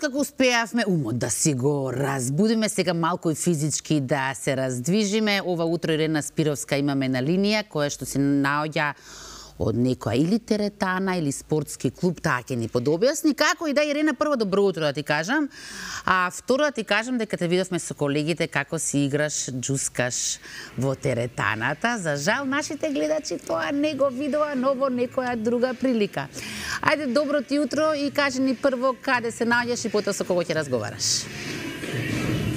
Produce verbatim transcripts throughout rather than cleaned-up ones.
Откако успеавме умот да си го разбудиме, сега малку и физички да се раздвижиме, ова утро Ирена Спировска имаме на линија, која што се наоѓа од некоја или теретана или спортски клуб, таа ќе ни подобјасни. Како и да, Ирена, прво добро утро да ти кажам, а второ да ти кажам дека те видовме со колегите како си играш, джускаш во теретаната. За жал, нашите гледачи тоа не го видува, но во некоја друга прилика. Ајде, добро ти утро и кажи ни прво каде се наоѓаш и потоа со кого ќе разговараш.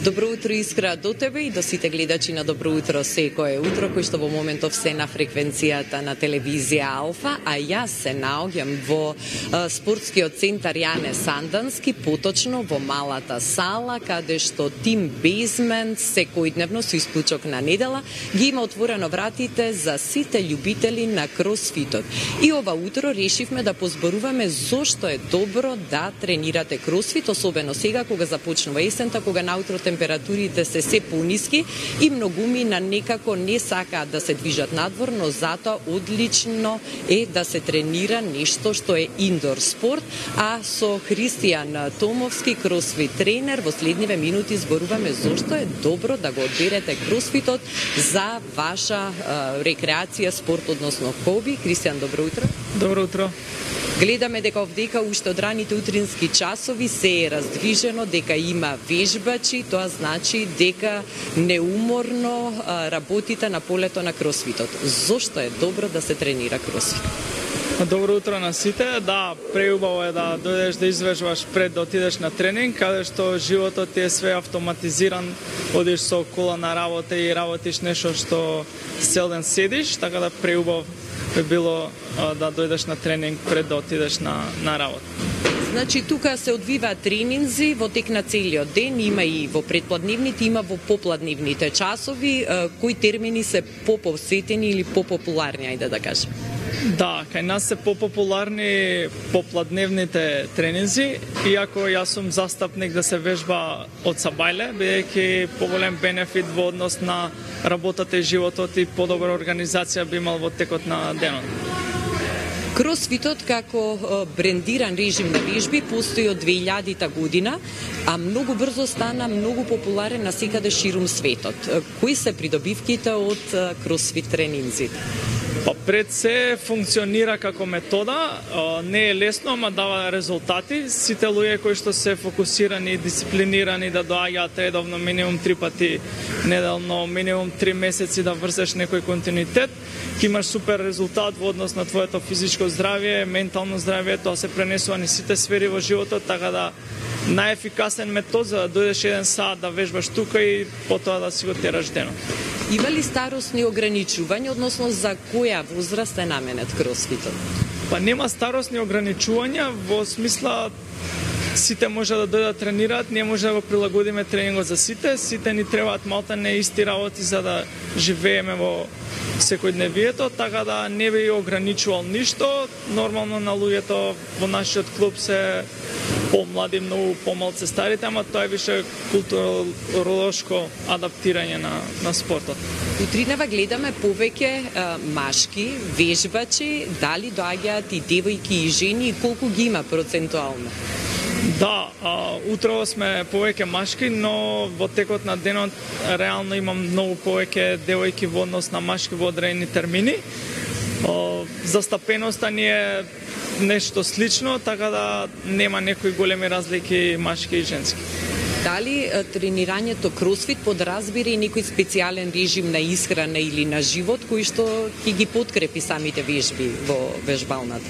Добро утро, Искра, до тебе и до сите гледачи на Добро утро секое утро, кои што во моментов се на фреквенцијата на телевизија Алфа, а јас се наоѓам во а, спортскиот центар Јане Сандански, поточно во малата сала, каде што Тим Бейзмент секојдневно со исклучок на недела ги има отворено вратите за сите љубители на кросфитот. И ова утро решивме да позборуваме зошто е добро да тренирате кросфит, особено сега кога започнува есента, кога наутро температурите се се пониски и многумина некако не сакаат да се движат надвор, но затоа одлично е да се тренира нешто што е индор спорт, а со Христијан Томовски, кросфит тренер, во следниве минути зборуваме зошто е добро да го одберете кросфитот за ваша е, рекреација, спорт, односно хоби. Христијан, добро утро. Добро утро. Гледаме дека овдека уште од раните утрински часови се е раздвижено, дека има вежбачи, тоа значи дека неуморно работите на полето на кросфитот. Зошто е добро да се тренира кросфит? Добро утро на сите. Да, преубаво е да дојдеш да извежбаш пред да отидеш на тренинг, каде што животот ти е све автоматизиран, одиш со кола на работа и работиш нешто што цел ден седиш, така да преубаво би било а, да дојдеш на тренинг пред да отидеш на, на работа. Значи, тука се одвиваат тренинзи во тек на целиот ден, има и во предпладневните, има во попладневните часови. Кои термини се попосетени или попопуларни, ајде да кажем? Да, кај нас се попопуларни попладневните тренинзи, иако јас сум застапник да се вежба од сабајле, бидејќи поголем бенефит во однос на работата и животот и подобра организација би имал во текот на денот. Кросфитот како брендиран режим на вежби постои од две илјадите година, а многу брзо стана многу популарен насекаде ширум светот. Кои се придобивките од кросфит тренинзите? Па пред се функционира како метода, не е лесно, ама дава резултати. Сите луѓе кои што се фокусирани и дисциплинирани да доаѓаат редовно минимум три пати неделно, минимум три месеци да врзеш некој континуитет, ќе имаш супер резултат во однос на твоето физичко здравје, ментално здравје, тоа се пренесува низ сите сфери во животот, така да најефикасен метод за да дојдеш еден саат да вежбаш тука и потоа да си го тераш денот. Има ли старосни ограничувања, односно за која возраст е наменет кросфитот? Па нема старосни ограничувања, во смисла сите може да дојдат да тренираат, ние може да го прилагодиме тренингот за сите, сите ни требаат малтане исти работи за да живееме во секојдневието, така да не би ограничувал ништо. Нормално на луѓето во нашиот клуб се помлади, многу помалце старите, ама тоа е више културолошко адаптирање на, на спортот. Утринава гледаме повеќе а, машки, вежбачи, дали доаѓаат и девојки и жени и колку ги има процентуално? Да, а, утрово сме повеќе машки, но во текот на денот реално имам многу повеќе девојки во однос на машки во одредени термини. О, застапеноста ни е нешто слично, така да нема некои големи разлики машки и женски. Дали тренирањето кросфит подразбира и некој специјален режим на исхрана или на живот кој што ќе ги подкрепи самите вежби во вежбалната?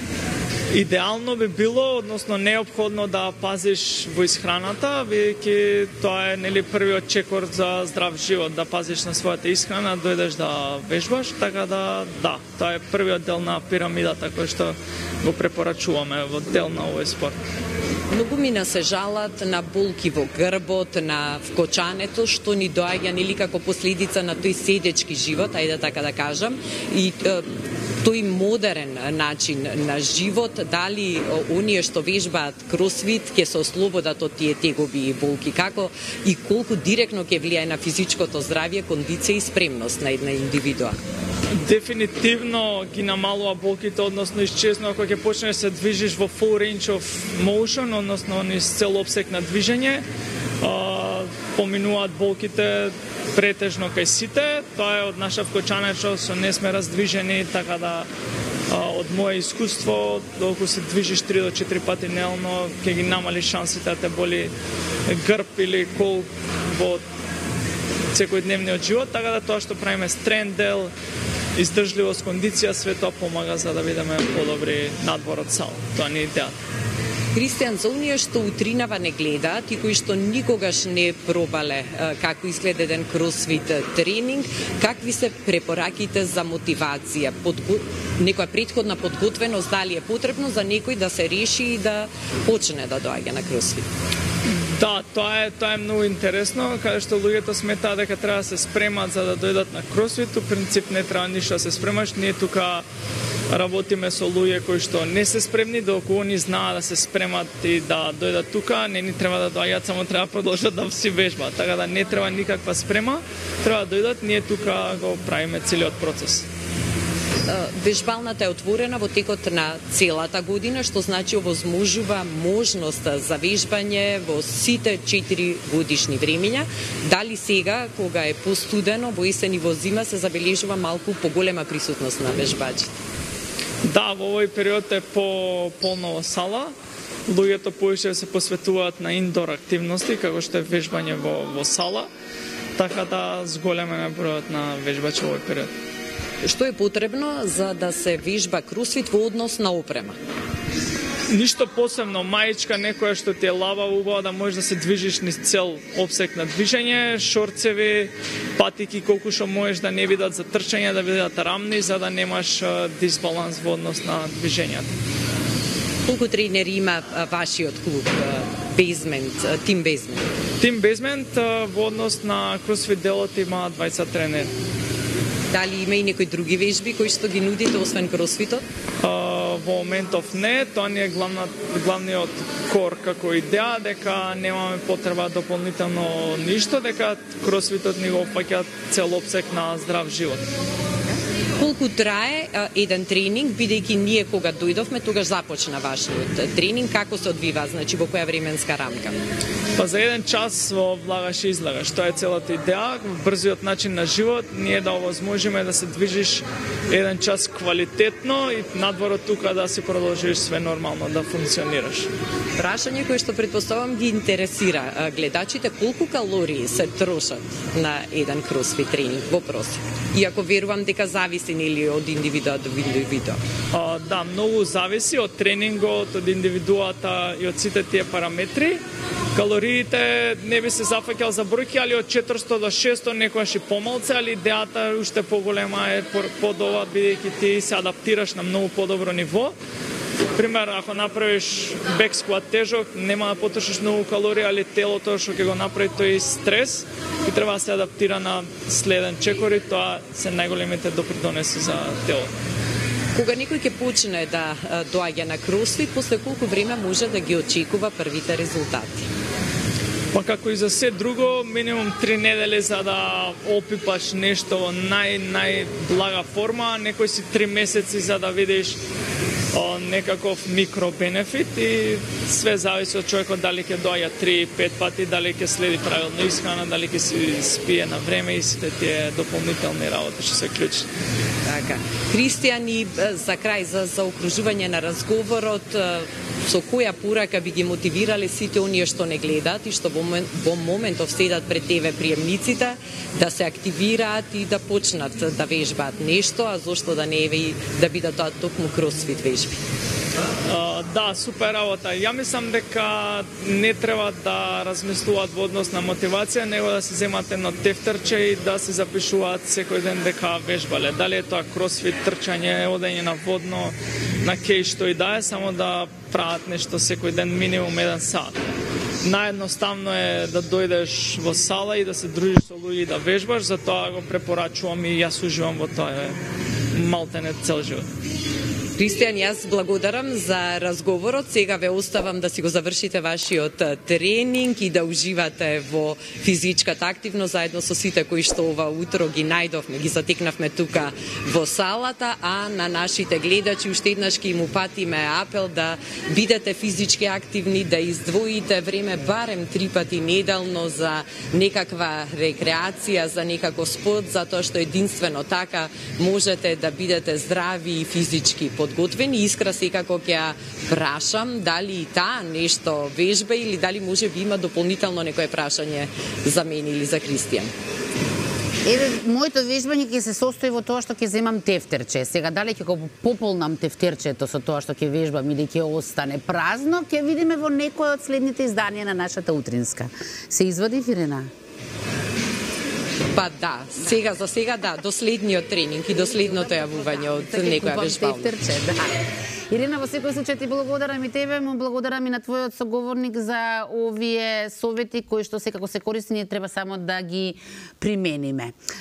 Идеално би било, односно неопходно да пазиш во исхраната, бидејќи тоа е нели првиот чекор за здрав живот, да пазиш на својата исхрана, дојдеш да вежбаш, така да да, тоа е првиот дел на пирамидата кој што го препорачуваме во дел на овој спорт. Многумина се жалат на болки во грбот, на вкочането, што ни доаѓа нели како последица на тој седечки живот, ајде така да кажам, и тој модерен начин на живот, дали оние што вежбаат кросфит ќе се ослободат од тие тегоби и болки, како и колку директно ќе влијае на физичкото здравје, кондиција и спремност на една индивидуа? Дефинитивно ги намалува болките, односно исчезнува кога ќе почнеш да се движиш во full range of motion, односно низ цел опсек на движење. А, поминуваат болките претежно кај сите. Тоа е од наша вкочанечо, со не сме раздвижени, така да од мое искуство, доколку се движиш три до четири пати дневно, ќе ги намали шансите да те боли грб или кол во секојдневниот живот, така да тоа што правиме стрен дел, издржливост, кондиција, све тоа помага за да бидеме подобри надвор од сала. Тоа не е идејата. Кристијан, за оние што утринава не гледаат и кои што никогаш не пробале како изгледа еден кросфит тренинг, какви се препораките за мотивација? Подго... Некоја предходна подготвеност дали е потребно за некој да се реши и да почне да доаѓа на кросфит? Да, тоа е тоа е многу интересно, каде што луѓето сметаат дека треба да се спремат за да дојдат на кросфит. У принцип не треба ништо да се спремаш. Ние тука работиме со луѓе кои што не се спремни, доколку они знаат да се спремат и да дојдат тука, не ни треба да доаѓаат, само треба да продолжат да си вежбаат. Така да не треба никаква спрема, треба да дојдат, ние тука го правиме целиот процес. Вежбалната е отворена во текот на целата година, што значи овозможува можност за вежбање во сите четири годишни времења. Дали сега, кога е постудено, во есен и во зима, се забележува малку поголема присутност на вежбачите? Да, во овој период е по полно во сала. Луѓето повеќе се посветуваат на индор активности, како што е вежбање во, во сала, така да зголемен е бројот на вежбачи во овој период. Што е потребно за да се вежба кросфит во однос на опрема? Ништо посебно, маичка некоја што ти е лава, убава да можеш да се движиш низ цел опсек на движење, шорцеви, патики колку што можеш да не бидат за трчање, да бидат рамни, за да немаш дисбаланс во однос на движењата. Колку тренери има вашиот клуб Basement, Team Basement? Team Basement во однос на кросфит делот има дваесет тренери. Дали има и некои други вежби кои што ги нудите освен кросфитот? Uh, во моментов не, тоа ни е главна, главниот кор како идеја, дека немаме потреба дополнително ништо, дека кросфитот ни го опфаќа цел опсек на здрав живот. Колку трае а, еден тренинг, бидејќи ние кога дојдовме, тогаш започна вашиот тренинг, како се одвива, значи во која временска рамка? Па за еден час во влагаш и излагаш, тоа е целата идеја, брзиот начин на живот, ние да овозможиме да се движиш еден час квалитетно и надвор од тука да си продолжиш све нормално да функционираш. Прашање кое што претпоставам ги интересира гледачите, колку калории се трошат на еден кросфит тренинг во просек? Иако верувам дека зависи или од индивидуа до индивидуа. А, да, многу зависи од тренингот, од индивидуата и од сите тие параметри. Калориите не би се зафаќал за бројки, али од четиристо до шестстотини, некојаш и помалце, али идејата уште поголема е под ова, бидејќи ти се адаптираш на многу подобро ниво. Пример, ако направиш бек скват тежок, нема да потрошиш многу калории, али телото што ќе го направи тој стрес и треба да се адаптира на следен чекор и тоа се најголемите допринеси за телото. Кога некој ќе почне да доаѓа на кросфит, после колку време може да ги очекува првите резултати? Па како и за се друго, минимум три недели за да опипаш нешто во нај-најблага форма, некој си три месеци за да видиш о, некаков микробенефит и све зависи од човекот дали ќе доаѓа три пет пати, дали ќе следи правилно исхрана, дали ќе си спие на време и сите тие дополнителни работи што се клучни. Така. Кристијан, и за крај, за заокружување на разговорот, со која порака би ги мотивирале сите оние што не гледаат и што во, во моментов седат пред тебе приемниците да се активираат и да почнат да вежбаат нешто, а зошто да не е да бидат тоа токму кросфит вежби? Uh, да, супер работа. Ја мислам дека не треба да размислуваат во однос на мотивација, него да се земат едно тефтерче и да се запишуваат секој ден дека вежбале. Дали е тоа кросфит, трчање, одење на водно, на кеј што и да е, само да прават нешто секој ден минимум еден сат. Наједноставно е да дојдеш во сала и да се дружиш со луѓе и да вежбаш, затоа го препорачувам и јас уживам во тоа малтене цел живот. Кристијан, јас благодарам за разговорот. Сега ве оставам да си го завршите вашиот тренинг и да уживате во физичката активност заедно со сите кои што ова утро ги најдовме, ги затекнавме тука во салата, а на нашите гледачи уште еднаш ќе им упатиме апел да бидете физички активни, да издвоите време барем три пати неделно за некаква рекреација, за некаков спорт, затоа што единствено така можете да бидете здрави и физички подготвени. Искра секако ќе ја прашам дали и таа нешто вежба или дали може би има дополнително некое прашање за мене или за Кристијан. Еве, моето вежбање ќе се состои во тоа што ќе земам тефтерче. Сега дали ќе го пополнам тефтерчето со тоа што ќе вежбам или ќе остане празно, ќе видиме во некој од следните изданија на нашата утринска. Се извади, Ирена? Па да, сега за сега да, до следниот тренинг и до следното јавување од некоја вежбална. Тефтерче, да. Ирена, во секој случај ти благодарам и тебе, му благодарам и на твојот соговорник за овие совети кои што секако се корисни и треба само да ги примениме.